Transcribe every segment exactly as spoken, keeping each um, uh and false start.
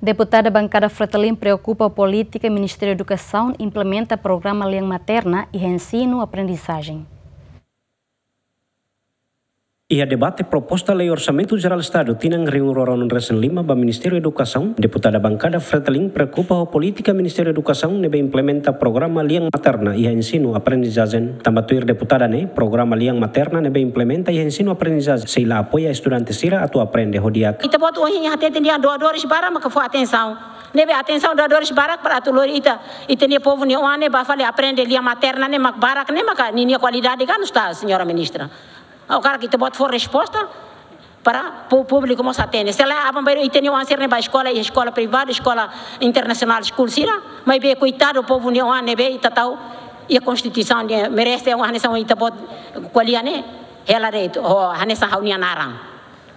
Deputada Bankada Fretilin preokupa ho polítika Ministériu Edukasaun implementa programa lian materna iha ensinu aprendizajen. Iha debate proposta lei Orsamentu Jerál Estadu tinan rihun rua ruanulu-resin-lima ba Ministériu Edukasaun, deputada Bankada Fretilin preokupa ho polítika Ministériu Edukasaun ne'ebé implementa programa lian materna iha ensinu aprendizajen. Tanba tuir deputada ne'e, programa lian materna ne'ebé implementa iha ensinu aprendizajen sei la apoia estudante sira atu aprende ho di'ak. Ita-boot ohin hatete nia doadores barak maka fó atensaun. Ne'ebé atensaun doadores barak para atu lori ita, ita-nia povu nia oan ne'e ba fali aprende lian materna ne'e mak barak ne'e maka ninia kualidade kan, señora ministra. Agora ita-boot fó resposta para pu-, públiku mós hatene. Se lae aban-bainrua ita-nia oan sira ne'e ba eskola, iha eskola privadu, eskola internasionál, school sira, maibé koitadu povu nia oan ne'ebé ita tau iha konstituisaun nia merese, oan hanesan ita-boot ko'alia ne'e, hela de'it, ho hanesan ha'u-nia naran.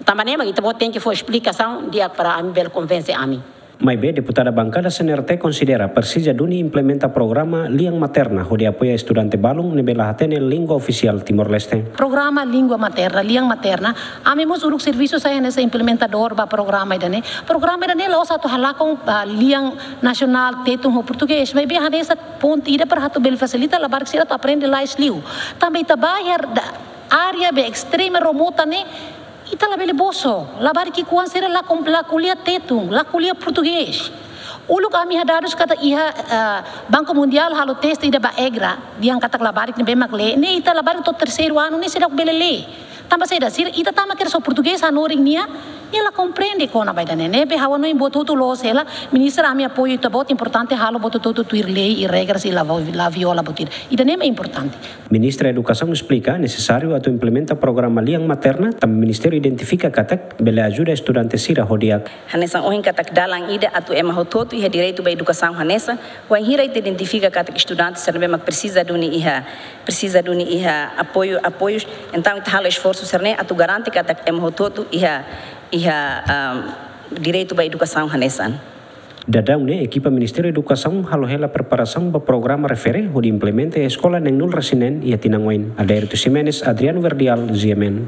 Tanba ne'e mak ita-boot tenke fó esplikasaun di'ak para ami bele konvense ami. Maibé deputada Bankada C N R T konsidera presiza duni implementa programa lian materna hodi apoia estudante balun ne'ebé la hatene língua ofisiál Timor-Leste. Programa língua materna, lian materna, ami mós uluk servisu sai hanesan implementadór ba programa ida-ne'e. Programa ida-ne'e la'ós atu halakon, ah, lian nasionál Tetun ho Portugés, maibé hanesan ponte ida para atu bele fasilita labarik sira atu aprende lalais liu. Tanba ita ba iha área be estrema remota ne'e, ita labele bosok, labarik ki'ikoan sira la kom-, la ko'alia Tetun, la ko'alia Portugés. Uluk ami iha dadus katak iha, eh, Banku Mundiál halo teste ida ba EGRA, dehan katak labarik ne'ebé mak lee, ne'e ita labarik to'o terseiru anu ne'e seidauk bele lee. Tanba saida, sira, ita tama kedas ho Portugés hanorin nia, nia la komprende kona-ba ida-ne'e. Ne'ebé ha'u hanoin buat hotu loos hela, ministra, ami apoiu ita-boot, importante halo buat hotu tuir lei i regras i la vo-, la viola buat ida. Ida-ne'e mak importante. Ministra Edukasaun esplika nesesáriu atu implementa programa lian materna, tanba ministériu identifika katak bele ajuda estudante sira ho di'ak. Hanesan ohin katak dalan ida atu ema hotu-hotu iha direitu ba edukasaun hanesan, wainhira ita identifika katak estudante sira ne'ebé mak presiza duni iha, presiza duni iha apoiu, apoius, entaun ita halo esforsu sira-ne'e atu garante katak ema hotu-hotu iha, iha, ah, direitu ba edukasaun hanesan. Daudaun ne'e, ekipa Ministériu Edukasaun halo hela preparasaun ba programa refere hodi implementa iha eskola neenulu-resin-neen iha tinan oin. Adérito Ximenes, Adriano Verdial, G M N.